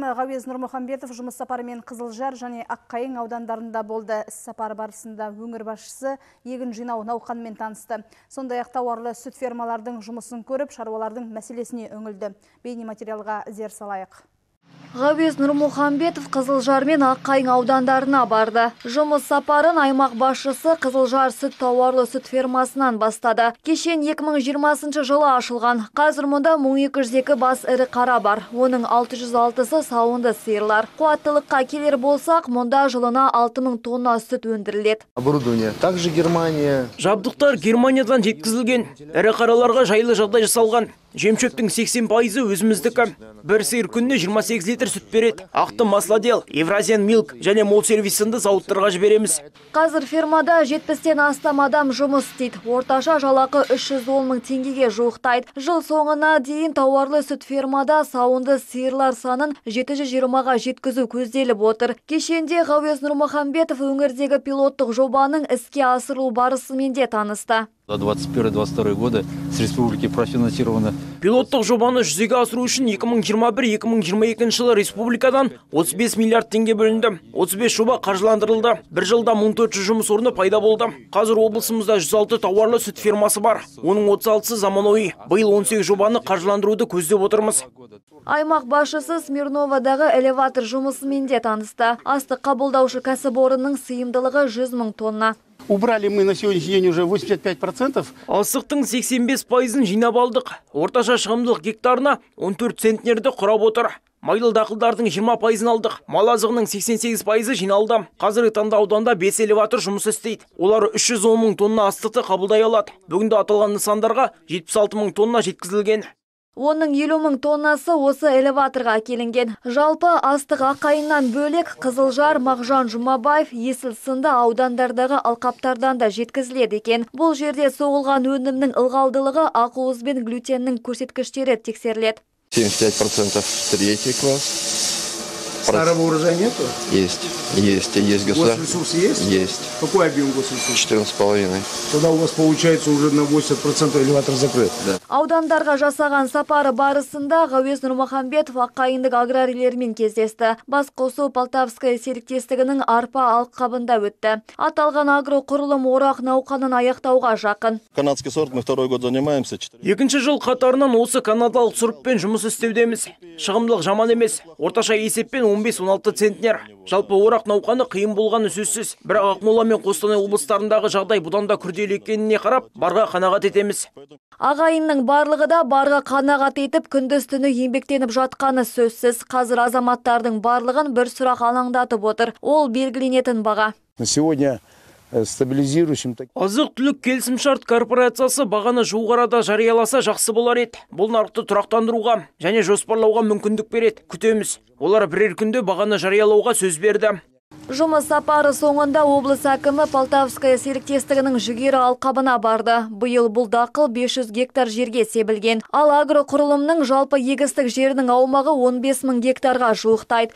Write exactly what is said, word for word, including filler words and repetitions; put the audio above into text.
әкімі Ғауез Нұрмұхамбетов жұмыс сапарымен Қызылжар және Аққайың аудандарында болды. Іс сапар барысында өңір басшысы егін жинау науқанымен танысты. Сондай-ақ тауарлы сүт фермалардың жұмысын көріп, шаруалардың мәселесіне үңілді. Бейнематериалға зер салайық. Ғауез Нұрмұхамбетов Қызылжар мен Аққайың аудандарына барды. Жұмыс сапарын аймақ басшысы Қызылжар сүт тауарлы сүт фермасынан бастады. Кешен екі мың жиырмасыншы жылы ашылған. Қазір мұнда мың екі жүз екі бас ірі қара бар. Оның алты жүз алтысы сауынды сиырлар. Қуаттылыққа келер болсақ, мұнда жылына алты мың тонна сүт өндіріледі. Оборудование также Германия. Жабдықтар Германиядан жеткізілген. Ірі қараларға жайлы жағдай жасалған. Жемшөптің сексен пайызы өзіміздікі. Бір сиыр күніне жиырма сегіз литр сүт береді. Ақты Маслодел, Евразиан Милк және Мол сервис сынды зауыттарға жібереміз. Қазір фермада жетпістен астам адам жұмыс істейді. Орташа жалақы үш жүз он мың теңгеге жуықтайды. Жыл соңына дейін тауарлы сүт фермада сауынды сиырлар санын жеті жүз жиырмаға жеткізу көзделіп отыр. Кешенде Ғауез Нұрмұхамбетов өңірдегі пилоттық жобаның іске асырылу барысымен де танысты. За двадцать первый — двадцать второй годы с республики профинансировано. Пилоттық жобаны жүзеге асыру үшін екі мың жиырма бір — екі мың жиырма екінші жылы республикадан отыз бес миллиард теңге бөлінді. отыз бес жоба қаржыландырылды. Bir жылда мың төрт жүз жұмыс орны пайда болды. Қазір облысымызда жүз алты тауарлы сүт фермасы бар. Оның отыз алтысы заманауи. Биыл он сегіз жобаны қаржыландыруды көздеп отырмыз. Аймақ басшысы Смирновадағы элеватор жұмысымен де танысты. Астық қабылдаушы кәсіпорынның сыйымдылығы жүз мың тонна. Убрали мы на сегодняшний день уже восемьдесят пять процентов. Астықтың сексен бес пайызын жинап алдық. Орташа шығымдылық гектарына он төрт центнерді құрап отыр. Майлы дақылдардың жиырма пайызын алдық. Мал азығының сексен сегіз пайызы жиналды. Қазіргі таңда ауданда бес элеватор жұмыс істейді. Олар үш жүз он мың тонна астықты қабылдай алады. Бүгінде аталған нысандарға жетпіс алты мың тонна жеткізілген. Оның елу мың тоннасы осы элеваторға әкелінген. Жалпы астық Аққайыңнан бөлек Қызылжар, Мағжан Жұмабаев, Есіл сынды аудандардағы алқаптардан да жеткізіледі екен. Бұл жерде соғылған өнімнің ылғалдылығы ақуыз бен глютеннің көрсеткіштері тексеріледі. семьдесят пять процентов третий класс. Старого урожая нету? Есть. Есть. Есть государство. Госресурс есть? Есть. Какой объем госресурса? четырнадцать с половиной. Тогда у вас получается уже на восемьдесят процентов элеватор закрыт. Да. Аудандарға жасаған сапары барысында Ғауез Нұрмұхамбетов Аққайыңдық аграрийлермен кездесті. Басқосу Полтавская серіктестігінің арпа алқабында өтті. Аталған агроқұрылым орақ науқанын аяқтауға жақын. Канадский сорт мы второй год занимаемся. Екінші жыл қатарынан осы канадалық сұрыппен жұмыс істеудеміз. Шығымдылық жаман емес. Орташа есеппен он бес — он алты центнер. Жалпы орақ науқаны қиын болғаны сөзсіз. Бірақ Ақмола мен Қостанай облыстарындағы жағдай бұдан да күрделі екеніне қарап, барға қанағат етеміз. Ағайынның барлығы да барға қанағат етіп, күндіз-түні еңбектеніп жатқаны сөзсіз. Қазір азаматтардың барлығын бір сұрақ алаңдатып отыр. Ол белгіленетін баға. На сегодня стабилизирующим. Азық-түлік келісімшарт корпорациясы бағаны жуық арада жарияласа жақсы болар еді. Бұл нарықты тұрақтандыруға және жоспарлауға мүмкіндік береді. Күтеміз. Олар бірер күнде бағаны жариялауға сөз берді. Жұмыс сапары соңында облыс әкімі Полтавская серіктестігінің жүгері алқабына барды. Биыл бұл дақыл бес жүз гектар жерге себілген. Ал агроқұрылымның жалпы егістік жерінің аумағы он бес мың гектарға жуықтайды.